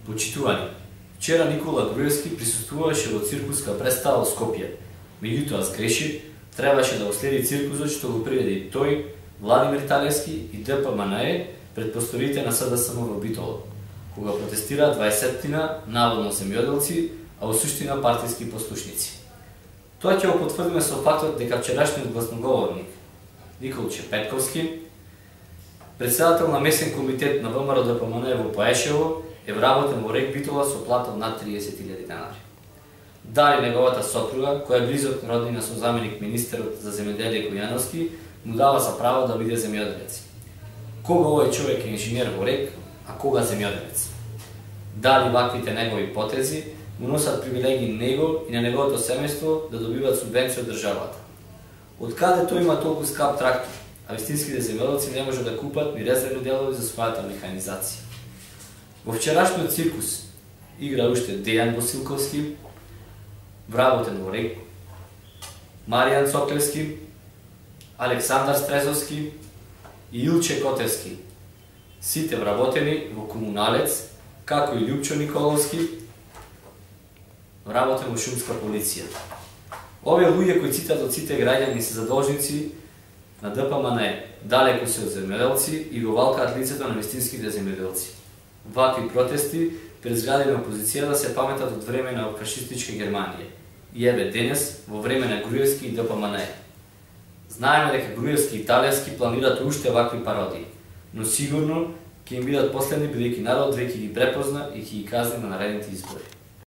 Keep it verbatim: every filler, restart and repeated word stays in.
Почитувани, вчера Никола Груевски присуствуваше во циркуска представа во Скопје. Меѓутоа сгреши, требаше да оследи циркусот што го приведе тој, Владимир Талевски и Д П М Н Е пред просторите на С Д С М во Битола, кога протестира дваесеттина наводно земјоделци, а во суштина партиски послушници. Тоа ќе го потврдиме со фактот дека вчерашниот гласноговорник Николче Петковски, председател на месен комитет на В М Р Д П М Н Е во Паешево, е вработен во РЕК Битола со плата од над триесет илјади денари. Дали неговата сопруга, која е близок роднина со заменик министерот за земјоделие Којановски, му дава за право да биде земјоделец. Кога овој човек е инженер во РЕК, а кога земјоделец? Дали ваквите негови потези му носат привилегии него и на неговото семејство да добиваат субвенција од државата? Од каде тој има толку скап трактор, а вистинските земјоделци не можат да купат ни резервни делови за својата механизација? Во вчерашниот циркус игра уште Дејан Босилковски, вработен во РЕК, Маријан Цоклевски, Александар Стрезовски и Илче Котевски, сите вработени во Комуналец, како и Љупчо Николовски, вработен во Шумска полиција. Овие луѓе кои цитат од сите граѓани се задолжници на Д П М Н Е, далеку се од земјоделци и го валкаат лицето на вистинските земјоделци. Вакви протести пред згради на опозицијата се паметат од време на фашистичка Германија. И еве денес, во време на Груевски и Д П М Н Е. Знаеме дека Груевски и Талевски планираат уште вакви пародии, но сигурно ќе им бидат последни бидејќи народот веќе ги препозна и ќе ги казни на наредните избори.